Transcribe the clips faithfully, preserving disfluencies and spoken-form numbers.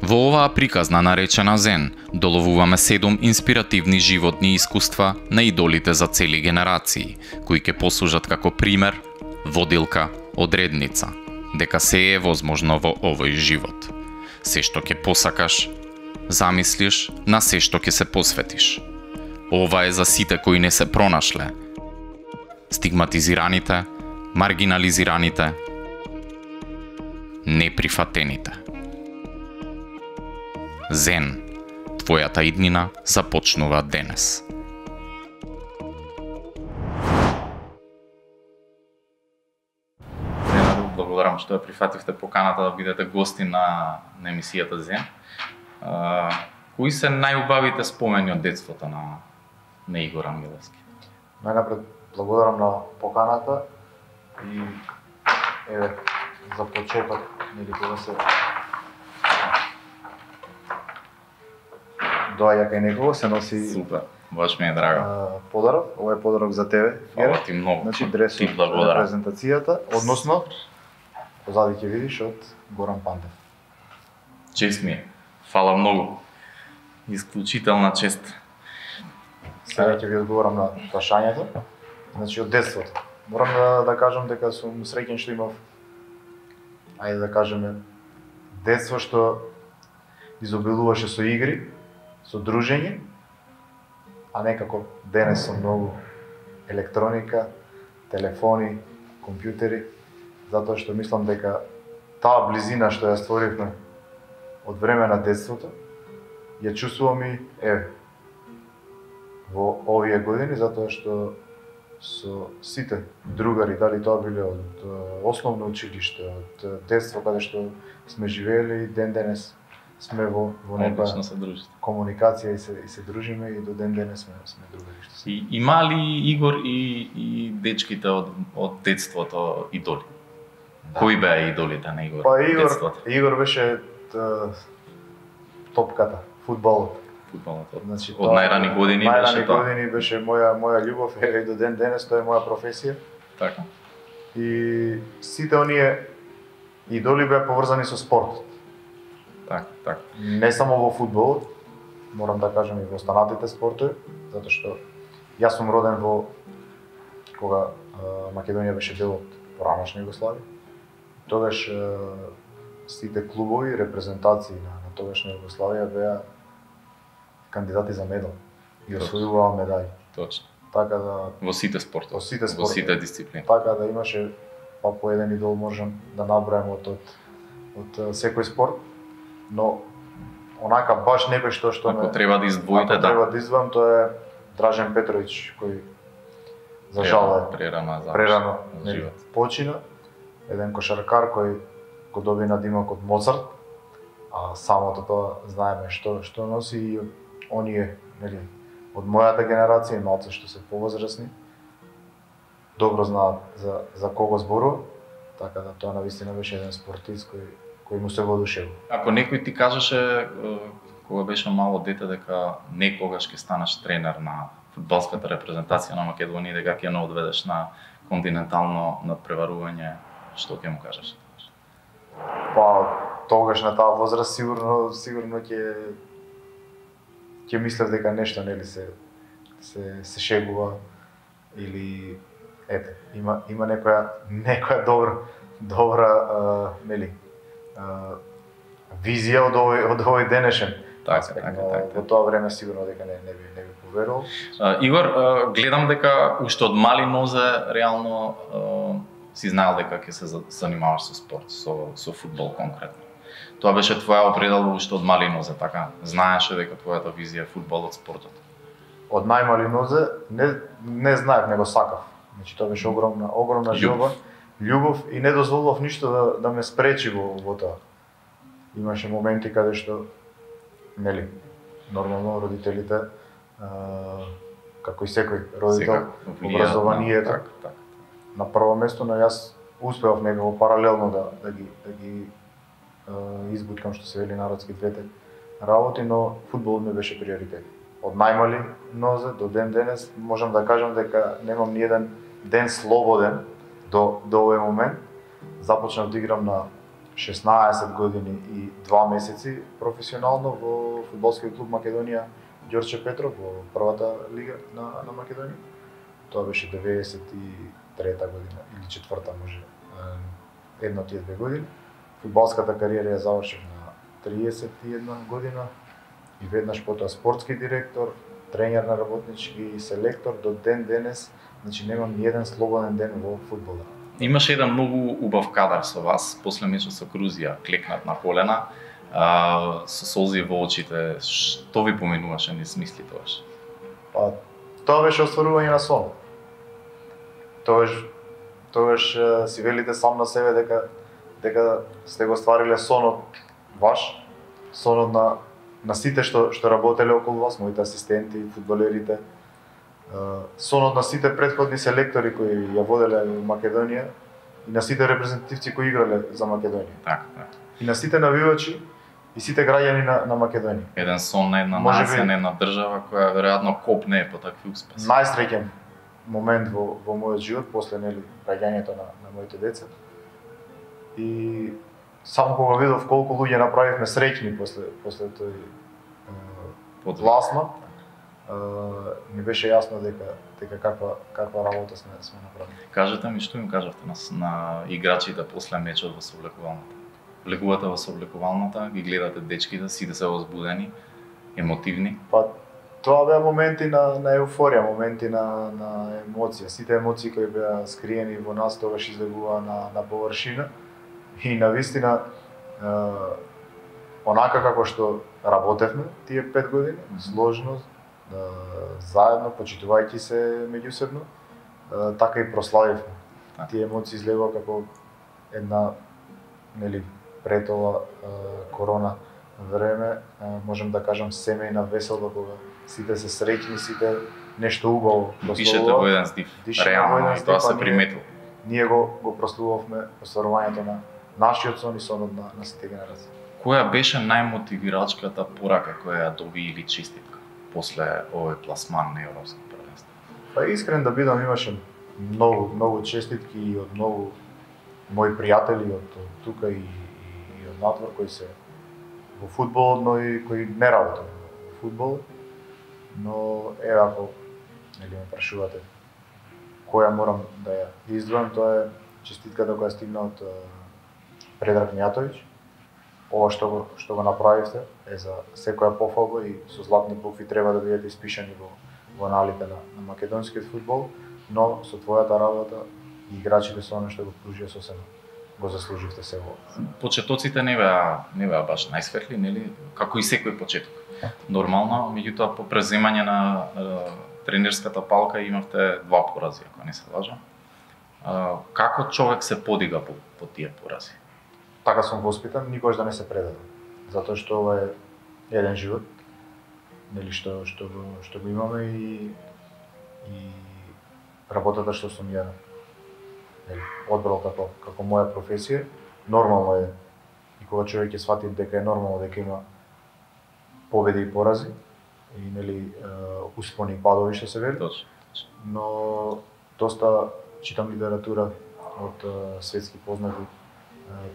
Во оваа приказна наречена Зен, доловуваме седум инспиративни животни искуства на идолите за цели генерации, кои ќе послужат како пример, водилка, одредница, дека се е возможно во овој живот. Се што ќе посакаш, замислиш, на се што ќе се посветиш. Ова е за сите кои не се пронашле, стигматизираните, маргинализираните, неприфатените. Зен, твојата иднина започнува денес. Благодарам што ја прифативте поканата да бидете гости на, на емисијата Зен. А, кои се најубавите спомени од детството на, на Игор Ангелевски? Најнапред благодарам на поканата и еве за почеток, нели кога се доаѓа кај некого, се носи Супер, баш ми е драго. а, подарок. Ова е подарок за тебе. Фала ти многу. Значи дресот Ти благодарам. на презентацијата, односно позади ќе видиш од Горан Пандев. Чест ми е. Фала многу. Исклучителна чест. Сега ќе ви одговорам на прашањето. Значи од детството. Морам да, да кажам дека сум среќен што имав, ајде да кажеме, детство што изобилуваше со игри, со дружење, а некако денес со многу електроника, телефони, компјутери, затоа што мислам дека таа близина што ја створивме од време на детството, ја чувствувам и еве во овие години, затоа што со сите другари, дали тоа биле од основно училиште, од детство каде што сме живеели, ден денес сме во во Одлично некоја се дружите. комуникација и се и се дружиме и до ден денес сме сме другари што се. И има ли Игор и, и дечките од, од детството идоли? Да. Кои беа идолите на Игор? Па Игор, детството? Игор беше т, топката, фудбалот. Фудбалот. Од, Значи од најрани години најрани беше тоа. години беше моја моја љубов, еве и до ден денес тоа е моја професија. Така. И сите оние идоли беа поврзани со спортот. Така, така. Не само во фудбалот, морам да кажам и во останатите спортови, затоа што јас сум роден во кога а, Македонија беше дел од поранешна Југославија. Тогаш а, сите клубови, репрезентации на, на тогашна Југославија беа кандидати за медал и освојуваа медали. Точно. Така да Во сите спортови. Во сите Во спортови. сите дисциплини. така да имаше па по еден идол можам да набројам од од, од а, секој спорт, но онака баш не беше тоа што Ако ме треба да издвоите, ако да. треба да издвојам, тоа е Дражен Петровиќ кој за жал е прерано за прерано за нели, живот. почина, еден кошаркар кој го доби надимок од Моцарт, а самото тоа знаеме што што носи и оние нели од мојата генерација и малце што се повозрасни добро знаат за за кого зборува, така да тоа навистина беше еден спортист кој кој му се воодушевува. Ако некој ти кажеше е, кога беше мало дете дека некогаш ќе станеш тренер на фудбалската репрезентација на Македонија, дека ќе не одведеш на континентално надпреварување, што ќе му кажеш? Па тогаш на таа возраст сигурно сигурно ќе ќе мислев дека нешто нели се се се шегува или ете има има некоја некоја добра добра а, нели а, визија од овој од овој денешен Така, аспект, така, но така. во тоа време сигурно дека не не би не би поверувал. А, Игор, а, гледам дека уште од мали нозе реално а, си знаел дека ќе се за- занимаваш со спорт, со со фудбал конкретно. Тоа беше твоја определба уште од мали нозе, така? Знаеше дека твојата визија е фудбалот, спортот. Од најмали нозе не не знаев, него сакав. Значи тоа беше огромна огромна Љубов. желба, љубов и не дозволував ништо да да ме спречи во во тоа. Имаше моменти каде што нели нормално родителите а, како и секој родител Секако влијаат на- образованието така, така. на прво место, но јас успеав некако паралелно да да ги да ги а, избуткам што се вели народски двете работи, но фудбалот ми беше приоритет. Од најмали нозе до ден денес можам да кажам дека немам ни еден ден слободен до до овој момент. Започнав да играм на шеснаесет години и два месеци професионално во фудбалскиот клуб Македонија Ѓорче Петров во првата лига на, на Македонија. Тоа беше деветдесет и трета година или четврта може, едно од тие две години. Фудбалската кариера ја завршив на триесет и една година и веднаш потоа спортски директор, тренер на работнички и селектор до ден денес, значи немам ни еден слободен ден во фудбалот. Имаше еден многу убав кадар со вас, после мечот со Грузија, клекнат на колена, а, со солзи во очите. Што ви поминуваше низ мисли тогаш? Па, тоа беше остварување на сон. Тогаш, тогаш си велите сам на себе дека дека сте го ствариле сонот ваш, сонот на на сите што што работеле околу вас, моите асистенти, фудбалерите, сонот на сите претходни селектори кои ја воделе во Македонија и на сите репрезентативци кои играле за Македонија. Така, така. И на сите навивачи и сите граѓани на, на Македонија. Еден сон на една Може нација, би на една држава која веројатно копне по такви успеси. Најсреќен момент во во мојот живот после нели раѓањето на на моите деца. И само кога видов колку луѓе направивме среќни после после тој пласма, ми беше јасно дека дека каква каква работа сме сме направили. Кажете ми што им кажавте на, на играчите после мечот во сооблекувалната? Влегувате во сооблекувалната, ги гледате дечките, сите се возбудени, емотивни? Па тоа беа моменти на на еуфорија, моменти на на емоција. Сите емоции кои беа скриени во нас тогаш излегуваа на на површина и навистина е, онака како што работевме тие пет години, сложно, е, заедно, почитувајќи се меѓусебно, е, така и прославивме. Тие емоции излегува како една, нели, пред ова е, корона време, е, можем да кажам семејна веселба кога сите се среќни, сите нешто убаво прославуваат. Дишете во еден здив, реално, и тоа се приметува. Ние го го прославувавме остварувањето на нашиот сон и сонот на, на сите генерации. Која беше најмотивирачката порака која ја доби или честитка после овој пласман на Европско првенство? Па искрен да бидам, имаше многу многу честитки и од многу мои пријатели од, од тука и, и, и од надвор кои се во фудбалот, но и кои не работат во фудбал. Но еве ако нели ме прашувате која морам да ја издвојам, тоа е честитката која стигна од Предраг Мијатовиќ. Ова што го што го направивте е за секоја пофалба и со златни букви треба да бидете испишани во во аналите на, на македонскиот фудбал, но со твојата работа и играчите со она што го пружија сосема го заслуживте се во. Почетоците не беа не беа баш најсветли, нели, како и секој почеток. Нормално, меѓутоа по преземање на е, тренерската палка имавте два порази, ако не се лажам. Е, како човек се подига по, по тие порази? Така сум воспитан, никогаш да не се предадам. Затоа што ова е еден живот, нели што што го што го имаме и и работата што сум ја нели одбрал како како моја професија, нормално е и кога човек ќе свати дека е нормално дека има победи и порази и нели успони и падови што се вели. Точно. Но доста читам литература од светски познати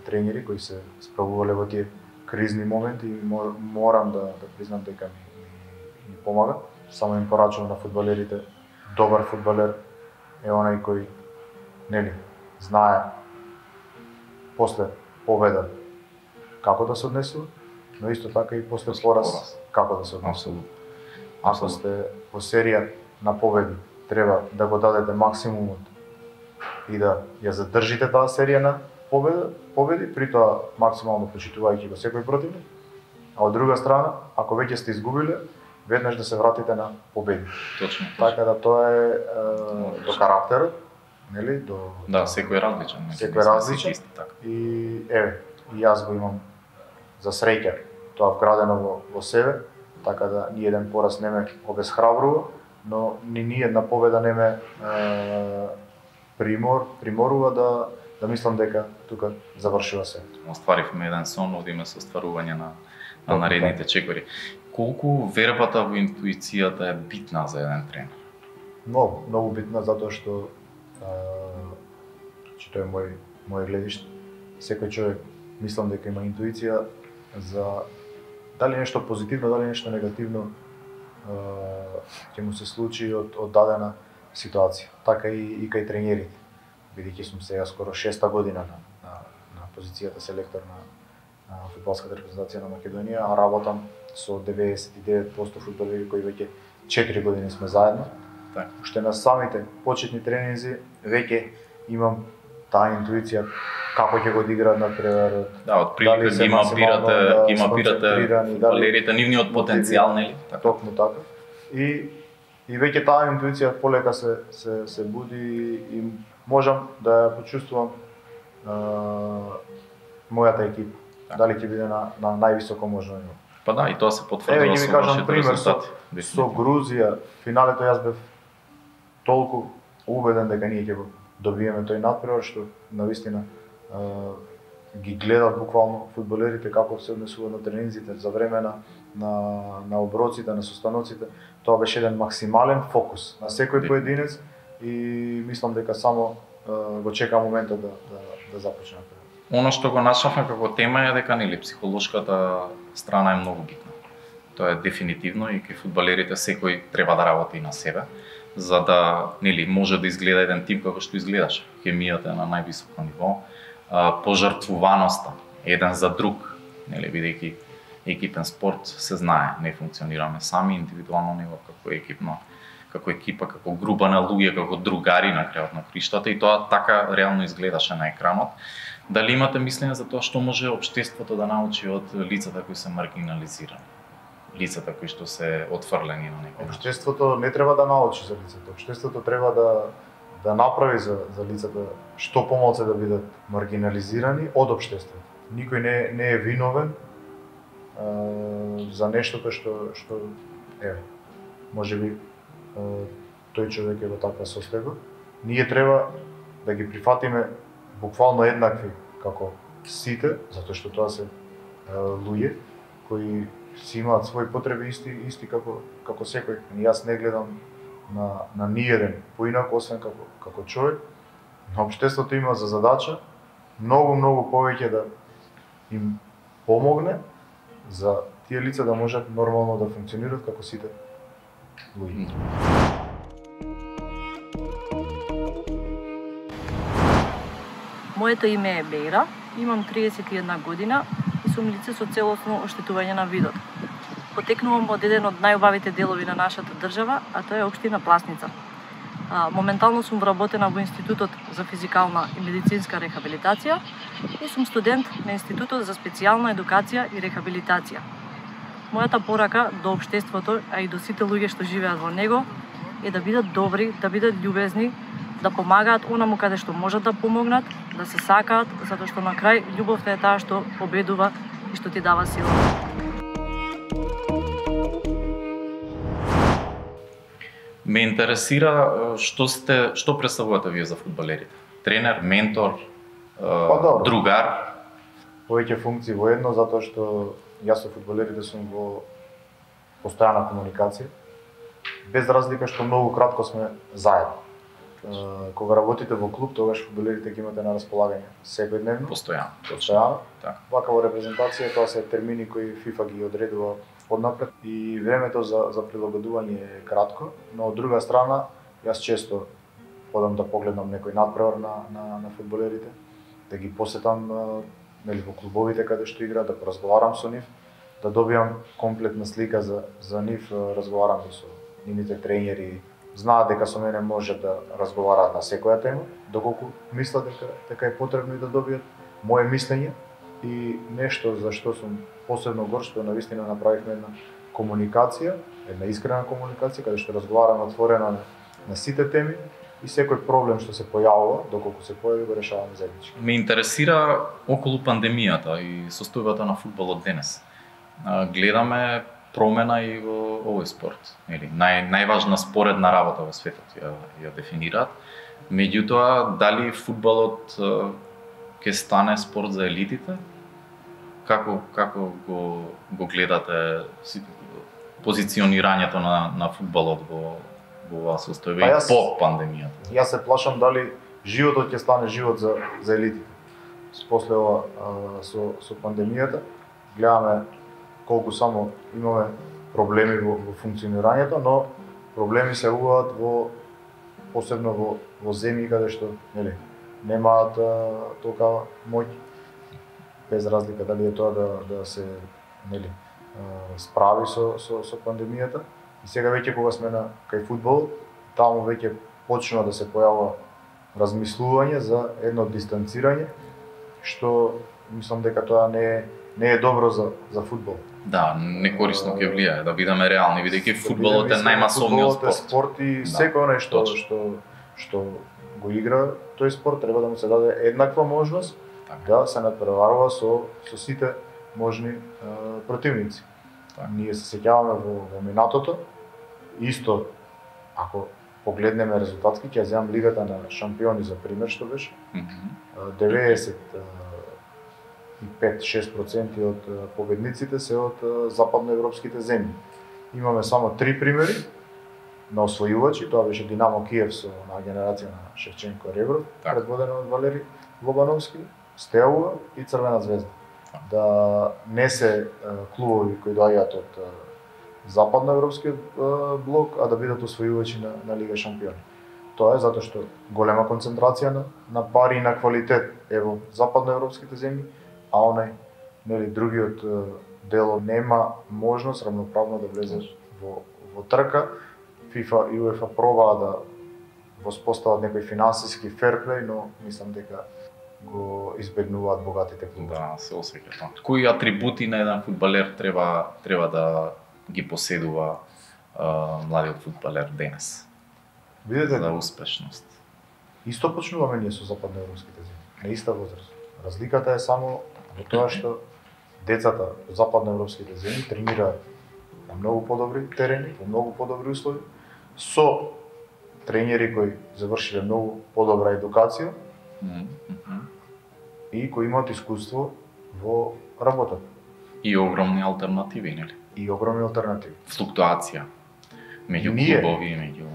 тренери кои се справувале во тие кризни моменти и морам да да признам дека ми ми, ми помага. Само им порачувам на фудбалерите, добар фудбалер е онај кој нели знае после победа како да се однесува, но исто така и после пораз како да се однесува. Ако сте во серија на победи, треба да го дадете максимумот и да ја задржите таа серија на победа, победи, при тоа максимално почитувајќи го секој противник. А од друга страна, ако веќе сте изгубиле, веднаш да се вратите на победи. Точно. Така да тоа е, е до карактерот, нели, до Да, секој е различен. Секој е различен. Исти, така. И еве, и јас го имам за среќа тоа вградено во, во себе, така да ни еден пораз не ме обесхрабрува, но ни ни една победа не ме е, примор, приморува да да мислам дека тука завршува се. Остваривме еден сон, одиме со остварување на на наредните чекори. Колку вербата во интуицијата е битна за еден тренер? Многу, многу битна затоа што а, че тоа е мој мој гледиште. Секој човек мислам дека има интуиција за дали нешто позитивно, дали нешто негативно ќе му се случи од, од дадена ситуација. Така и, и кај тренерите. Бидејќи сум сега скоро шеста година на, на, на позицијата селектор на, на фудбалската репрезентација на Македонија, а работам со деветдесет и девет проценти фудбалери кои веќе четири години сме заедно. Так. Уште на самите почетни тренинзи веќе имам таа интуиција како ќе го одиграат например. Да, од прилика ги мапирате, да, ги мапирате фудбалерите, нивниот потенцијал, нели? Така. Токму така. И и веќе таа интуиција полека се се се буди и можам да ја почувствувам а, мојата екипа. Так. Дали ќе биде на на највисоко можно ниво. Па да, и тоа се потврдува со вашите пример со, резултати. со Грузија, финалето јас бев толку убеден дека ние ќе го добиеме тој надпревар што навистина ги гледат буквално фудбалерите како се однесуваат на тренинзите за време на на на оброците, на состаноците. Тоа беше еден максимален фокус на секој поединец и мислам дека само го чека моментот да да да започне. Оно што го начнавме како тема е дека нели психолошката страна е многу битна. Тоа е дефинитивно и кај фудбалерите секој треба да работи на себе, за да нели може да изгледа еден тим како што изгледаше. Хемијата е на највисоко ниво, пожртвуваноста еден за друг, нели бидејќи екипен спорт се знае, не функционираме сами индивидуално ниво како екипно, како екипа, како група на луѓе, како другари на крајот на криштата и тоа така реално изгледаше на екранот. Дали имате мислење за тоа што може општеството да научи од лицата кои се маргинализирани? Лицата кои што се отфрлени на некој начин? Општеството не треба да научи за лицата. Општеството треба да да направи за за лицата што помалку да бидат маргинализирани од општеството. Никој не не е виновен за нештото што што еве можеби тој човек е во таква состојба. Ние треба да ги прифатиме буквално еднакви како сите, затоа што тоа се луѓе кои си имаат своји потреби исти исти како како секој. И јас не гледам на на ниеден поинако освен како како човек. Но општеството има за задача многу многу повеќе да им помогне за тие лица да можат нормално да функционираат како сите луѓе. Моето име е Бејра, имам триесет и една година и сум лице со целосно оштетување на видот. Потекнувам од еден од најубавите делови на нашата држава, а тоа е општина Пласница. А, моментално сум вработена во Институтот за физикална и медицинска рехабилитација и сум студент на Институтот за специјална едукација и рехабилитација. Мојата порака до општеството, а и до сите луѓе што живеат во него, е да бидат добри, да бидат љубезни, да помагаат онаму каде што можат да помогнат, да се сакаат, затоа што на крај љубовта е таа што победува и што ти дава сила. Ме интересира што сте, што представувате вие за фудбалерите? Тренер, ментор, па, другар? Повеќе функции во едно, затоа што јас со фудбалерите сум во постојана комуникација, без разлика што многу кратко сме заедно. Кога работите во клуб, тогаш фудбалерите ги имате на располагање секојдневно. Постојано. Постојано. Така. Вака во репрезентација тоа се термини кои ФИФА ги одредува однапред и времето за за прилагодување е кратко, но од друга страна јас често одам да погледнам некој надпревар на на на фудбалерите, да ги посетам нели во клубовите каде што играат, да поразговарам со нив, да добиам комплетна слика за за нив, разговарам со нивните тренери, знаат дека со мене може да разговараат на секоја тема, доколку мислат дека дека е потребно и да добијат моje мислење и нешто за што сум посебно горд што навистина направивме една комуникација, една искрена комуникација каде што разговараме отворено на, на сите теми и секој проблем што се појавува, доколку се појави го решаваме заеднички. Ме интересира околу пандемијата и состојбата на фудбалот денес. Гледаме промена и во овој спорт. Или нај најважна споредна работа во светот ја ја дефинираат. Меѓутоа, дали фудбалот ќе стане спорт за елитите? Како како го го гледате позиционирањето на на фудбалот во во оваа состојба и по пандемијата? Јас се плашам дали животот ќе стане живот за за елитите. после ова а, со со пандемијата гледаме колку само имаме проблеми во, во функционирањето, но проблеми се јавуваат во посебно во во земји каде што нели немаат толкава моќ, без разлика дали е тоа да да се нели а, справи со со со пандемијата. И сега веќе кога сме на кај фудбал, таму веќе почнува да се појавува размислување за едно дистанцирање, што мислам дека тоа не е не е добро за за фудбал. Да, некорисно ќе влијае, да бидеме реални, бидејќи фудбалот е најмасовниот спорт. Спорт и секој оној што што што го игра тој спорт треба да му се даде еднаква можност така да се надпреварува со со сите можни е, противници. Так. Ние се сеќаваме во, во минатото, исто ако погледнеме резултатски, ќе земам лигата на шампиони за пример што беше. Mm -hmm. деветдесет и пет до шест проценти од победниците се од западноевропските земји. Имаме само три примери на освојувачи, тоа беше Динамо Киев со на генерација на Шевченко Ребров, так. предводена од Валери Лобановски, Стеуа и Црвена звезда. Так. Да не се клубови кои доаѓаат од западноевропскиот блок, а да бидат освојувачи на, на Лига шампиони. Тоа е затоа што голема концентрација на, на пари и на квалитет е во западноевропските земји, а онај нели другиот дел нема можност рамноправно да влезе во во трка. ФИФА и УЕФА пробаа да воспостават некој финансиски ферплеј, но мислам дека го избегнуваат богатите клубови. Да, се осеќа тоа. Кои атрибути на еден фудбалер треба треба да ги поседува а, младиот фудбалер денес? Видете, За успешност. исто почнуваме ние со западноевропските земји, на иста возраст. Разликата е само во тоа што децата од западноевропските земји тренираат на многу подобри терени, во многу подобри услови, со тренери кои завршиле многу подобра едукација Mm -hmm. и кои имаат искуство во работата И огромни алтернативи, нели? и огромни алтернативи. Флуктуација меѓу Ние, клубови, меѓу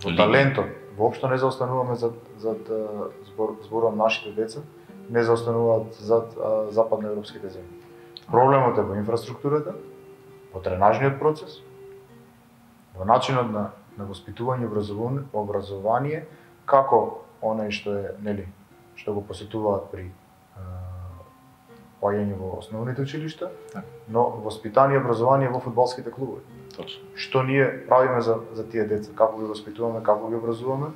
Во лиги. талентот воопшто не заостануваме зад зад збор, зборам нашите деца, не заостануваат зад а, западноевропските земји. Проблемот е во инфраструктурата, во тренажниот процес, во начинот на на воспитување и образование, образование како оној што е, нели, што го посетуваат при а, поаѓање во основните училишта, Так. но воспитание и образование во фудбалските клубови. Точно. Што ние правиме за за тие деца, како ги воспитуваме, како ги образуваме.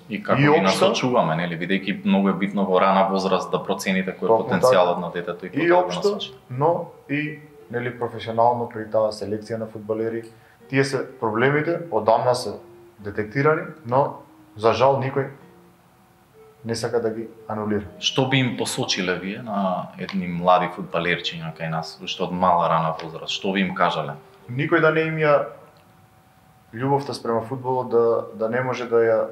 И како И ги општо- насочуваме, нели, бидејќи многу е битно во рана возраст да процените кој е Токму потенцијалот на детето и И кога да го општо, насочи. но и нели професионално при таа селекција на фудбалери. Тие се проблемите, одамна се детектирани, но за жал никој не сака да ги анулира. Што би им посочиле вие на едни млади фудбалерчиња кај нас, уште од мала рана возраст? Што би им кажале? Никој да не им ја љубовта спрема фудбалот да да не може да ја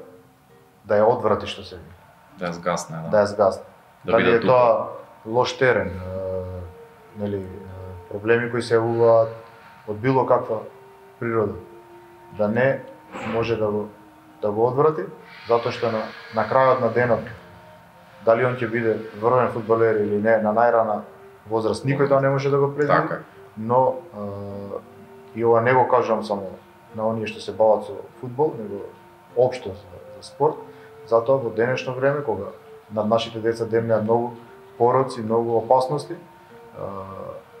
да ја одврати, што се вика, Да ја згасне, да. да ја згасне. Да Дали биде е тоа лош терен, е, нели, е, проблеми кои се јавуваат од било каква природа, да не може да го да го одврати, затоа што на, на крајот на денот, дали он ќе биде врвен фудбалер или не, на најрана возраст, никој тоа не може да го предвиди, Така. но е, и ова не го кажувам само на оние што се бават со фудбал, него општо за, за спорт, затоа во денешно време, кога над нашите деца демнеа многу пороци, многу опасности, е,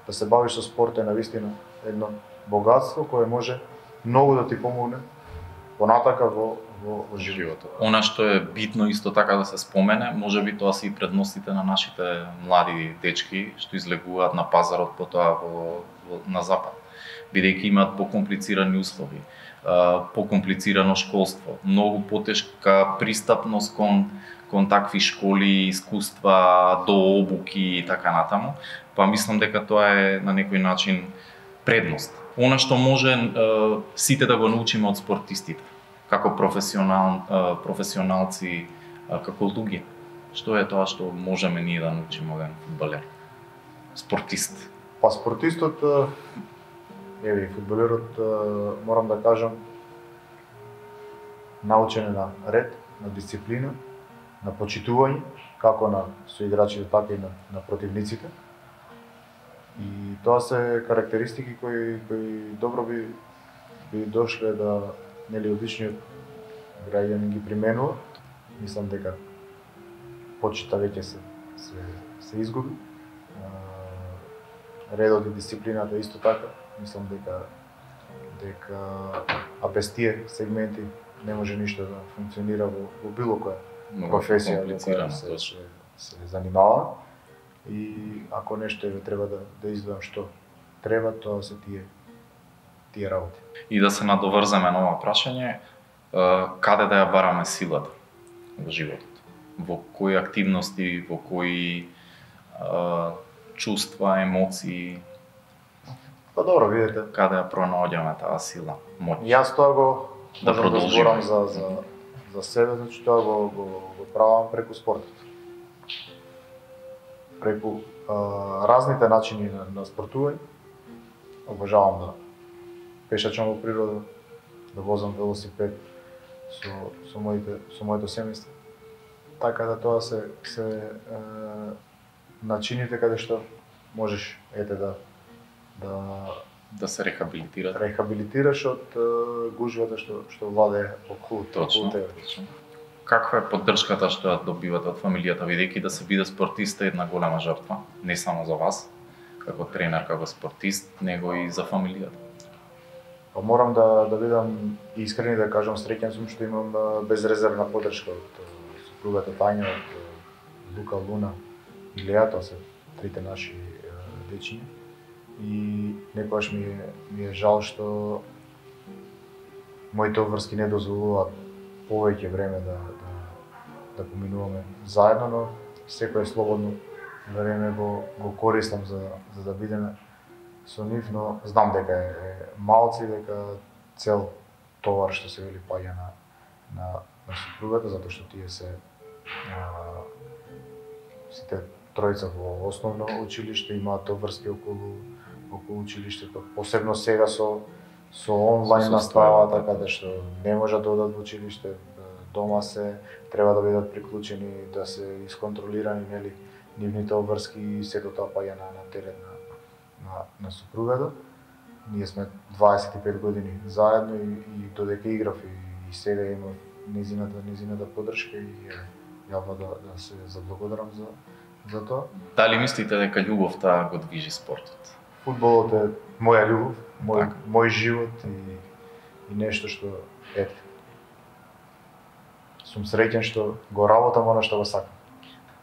да се бавиш со спорт е навистина едно богатство кое може многу да ти помогне понатака во во, во животот. животот. Она што е битно исто така да се спомене, можеби тоа се и предностите на нашите млади дечки што излегуваат на пазарот потоа во, во на запад, бидејќи имаат покомплицирани услови, покомплицирано школство, многу потешка пристапност кон кон такви школи, искуства, до обуки и така натаму, па мислам дека тоа е на некој начин предност. Она што може е, сите да го научиме од спортистите, како професионал, е, професионалци, е, како луѓе. Што е тоа што можеме ние да научиме од еден фудбалер? Спортист. Па спортистот, е, еве и фудбалерот, е, морам да кажам, научен е на ред, на дисциплина, на почитување, како на соиграчите, така и на, на противниците. И тоа се карактеристики кои кои добро би би дошле да, нели, обичниот граѓанин ги применува. Мислам дека почита веќе се се се изгуби. Редот и дисциплината исто така. Мислам дека дека а без тие сегменти не може ништо да функционира во, во било која професија во која се, се, се занимава. И ако нешто е треба да да издвојам што треба, тоа се тие тие работи. И да се надоврземе на ова прашање, каде да ја бараме силата во животот? Во кои активности, во кои а, чувства, емоции? Па добро, видите. Каде ја пронаоѓаме таа сила, моќ? Јас тоа го да продолжиме да за за за себе, значи тоа го го, го правам преку спортот. Преку а, разните начини на, на спортување. Обожавам да пешачам во природа, да возам велосипед со со моите со моето семејство. Така да тоа се се е, начините каде што можеш ете да да да се рехабилитираш. Рехабилитираш од е, гужвата што што владее околу Точно. тебе. Каква е поддршката што ја добивате од фамилијата, бидејќи да се биде спортист е една голема жртва, не само за вас како тренер, како спортист, него и за фамилијата? Па морам да да бидам искрен и да кажам среќен сум што имам безрезервна поддршка од супругата Тања, од Лука, Луна и Леа, тоа се трите наши дечиња. И некогаш ми е, ми е жал што моите обврски не дозволуваат повеќе време да да да поминуваме заедно, но секое слободно време го го користам за за да бидеме со нив, но знам дека е, е малци, дека цел товар што се вели паѓа на на на супругата, затоа што тие се а, сите тројца во основно училиште имаат обврски околу околу училиштето, посебно сега со со онлайн Со настава, состојбата. така да што не можат да одат во училиште, дома се, треба да бидат приклучени, да се исконтролирани, нели, нивните обврски и сето тоа паѓа на, на терен на, на, на супругата. Ние сме дваесет и пет години заедно и, и додека играв и, и сега имав незината, незината поддршка и е, јавно да, да се заблагодарам за, за тоа. Дали мислите дека љубовта го движи спортот? Фудбалот е моја љубов, мој, Така. мој живот и, и нешто што, ете, сум среќен што го работам она што го сакам.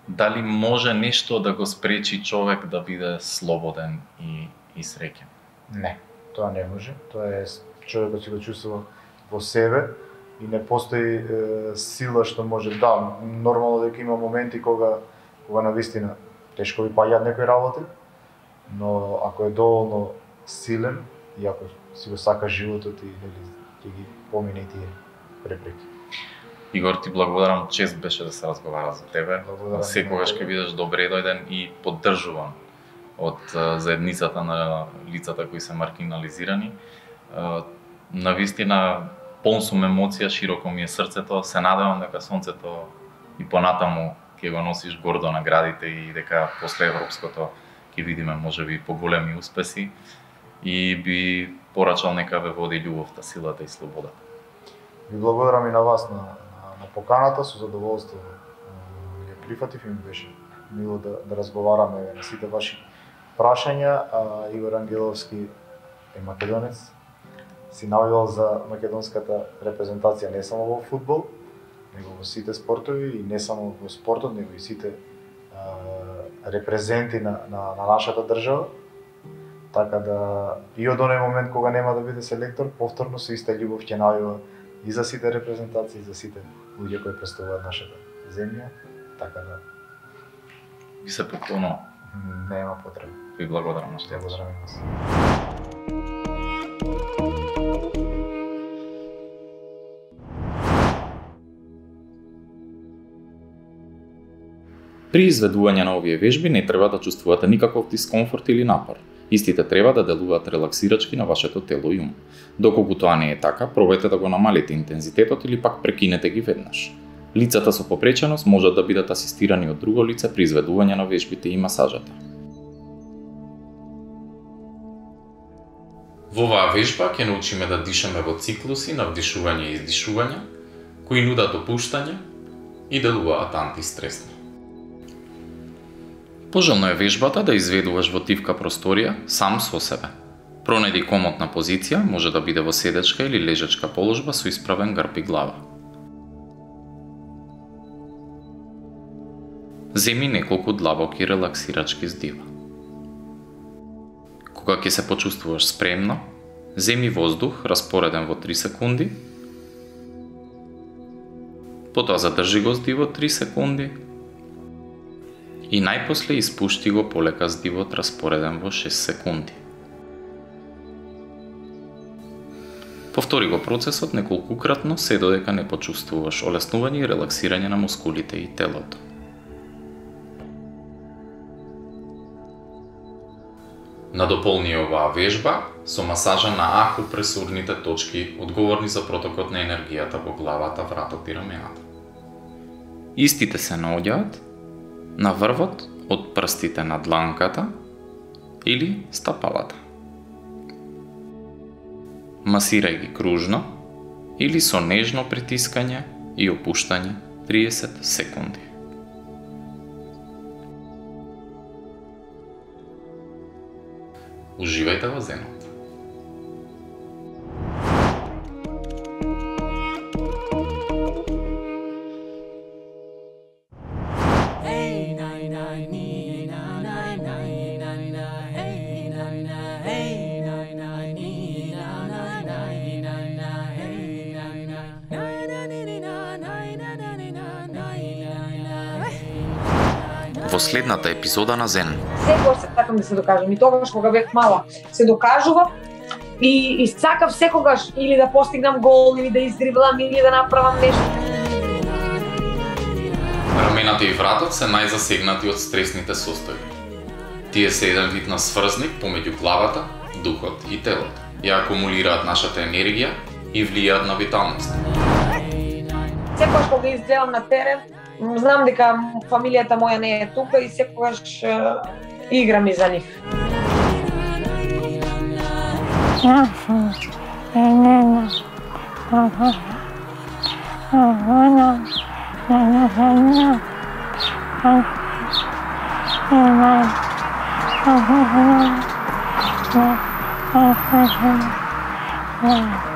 Дали може нешто да го спречи човек да биде слободен и, и среќен? Не, тоа не може. Тоа е човекот си го чувствува во себе и не постои е, сила што може да, нормално дека има моменти кога кога навистина тешко ви паѓаат некои работи, но ако е доволно силен и ако си го сака животот и нели ќе ги помине и тие препреки. Игор, ти благодарам, чест беше да се разговара за тебе. Благодарам. Секогаш ќе бидеш добре дојден и поддржуван од а, заедницата на лицата кои се маргинализирани. А, Навистина, полн сум емоција, широко ми е срцето, се надевам дека сонцето и понатаму ќе го носиш гордо наградите и дека после европското ќе видиме можеби поголеми успеси и би порачал нека ве води љубовта, силата и слободата. Ви благодарам и на вас на, на, на поканата, со задоволство е, ја прифатив и ми беше мило да, да разговараме на сите ваши прашања. А, Игор Ангеловски е македонец, си навивал за македонската репрезентација не само во фудбал, него во сите спортови и не само во спортот, него и сите а, репрезенти на, на, на нашата држава. Така да и од оној момент кога нема да биде селектор, повторно со иста љубов ќе навива и за сите репрезентации, и за сите луѓе кои представуваат нашата земја. Така да Ви се поклонувам. нема потреба. Ви благодарам на што Ја благодарам и вас. При изведување на овие вежби не треба да чувствувате никаков дискомфорт или напор. Истите треба да делуваат релаксирачки на вашето тело и ум. Доколку тоа не е така, пробајте да го намалите интензитетот или пак прекинете ги веднаш. Лицата со попреченост можат да бидат асистирани од друго лице при изведување на вежбите и масажата. Во оваа вежба ќе научиме да дишаме во циклуси на вдишување и издишување, кои нудат опуштање и делуваат антистресно. Пожелно е вежбата да изведуваш во тивка просторија сам со себе. Пронајди комотна позиција, може да биде во седечка или лежачка положба со исправен грб и глава. Земи неколку длабоки релаксирачки здива. Кога ќе се почувствуваш спремно, земи воздух распореден во три секунди, потоа задржи го здивот три секунди и најпосле испушти го полека здивот распореден во шест секунди. Повтори го процесот неколкукратно се додека не почувствуваш олеснување и релаксирање на мускулите и телото. Надополни оваа вежба со масажа на акупресурните точки одговорни за протокот на енергијата во главата, вратот и рамената. Истите се наоѓаат на врвот од прстите на дланката или стапалата. Масирај ги кружно или со нежно притискање и опуштање триесет секунди. Уживајте во зенот. Во следната епизода на Зен. Секогаш сакам да се докажам и тогаш кога бев мала се докажував и, и сакав секогаш или да постигнам гол, или да издриблам, или да направам нешто. Рамената и вратот се најзасегнати од стресните состојби. Тие се еден вид на сврзник помеѓу главата, духот и телото. Ја акумулираат нашата енергија и влијаат на виталност. Секогаш кога изгледам на терен, знам дека фамилијата моја не е тука и секогаш е, играм и за нив. Yeah.